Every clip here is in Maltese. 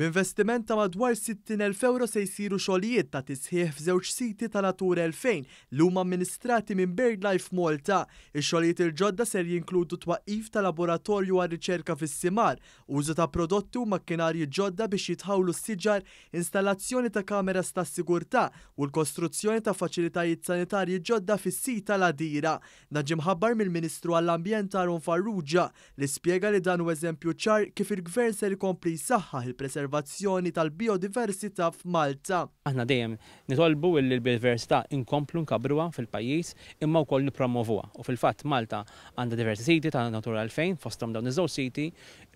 B'investiment ta' madwar 60,000 ewro se jsiru xogħlijiet ta' tisħiħ f'żewġ siti ta' Natura 2000 li huma amministrati minn BirdLife Malta. Ix-xogħlijiet il-ġodda ser jinkludu twaqqif ta' laboratorju għar-riċerka fis-simar, użu ta' prodotti u makkinarji ġodda biex jitħawlu s-siġar, installazzjoni ta' kameras tas-sigurtà u l-kostruzzjoni ta' faċilitajiet sanitarji ġodda fis-sit tal-Għadira. Dan ġie mħabbar mill-Ministru għall-Ambjent Aaron Farrugia li spjega li dan hu eżempju ċar kif il-Gvern ser ikompli jsaħħaħ il-preservazzjoni tal-bijodiversità f'Malta. Aħna dejjem nitolbu illi l-bijodiversità inkomplu nkabbruha fil-pajjiż imma wkoll nippromwovuha u fil-fatt Malta għandha diversi siti ta' Natura 2000 fosthom dawn iż-żewġ siti.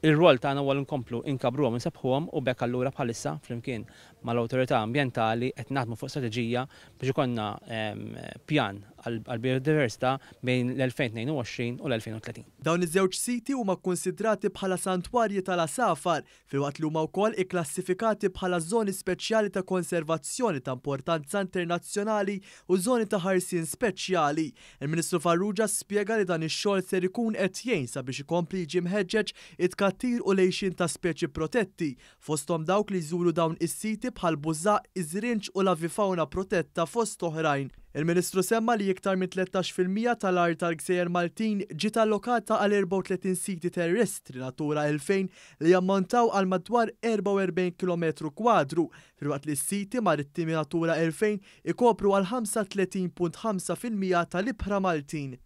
Ir-rwol tagħna huwa li nkomplu nkabbruhom u nsebbħuhom u b'hekk allura bħalissa flimkien mal-awtorità ambjentali qed naħdmu fuq strateġija biex ikollna pjan għall-bijodiversità bejn l-2022 u l-2030. Dawn iż-żewġ siti huma kkunsidrati bħala santwarji tal-għasafar, filwaqt li huma wkoll ikklassifikati bħala żoni speċjali ta' konservazzjoni ta' importanza internazzjonali u żoni ta' ħarsien speċjali. Il-Ministru Farrugia spjega li dan ix-xogħol ser ikun qed jgħin sabiex ikompli jiġi mħeġġeġ it-tkattir u l-għixien ta' speċi protetti, fosthom dawk li jżuru dawn is-siti bħall-bużaqq, iż-żrinġ u l-avifawna protetta fost oħrajn. Il-Ministru semma li iktar minn 13% tal-art tal-gżejjer Maltin ġiet allokata għal 34 siti terrestri Natura 2000 li jammontaw għal madwar 44 kilometru kwadru, filwaqt li s-siti marittimi Natura 2000 ikopru għal 35.5% tal-ibħra Maltin.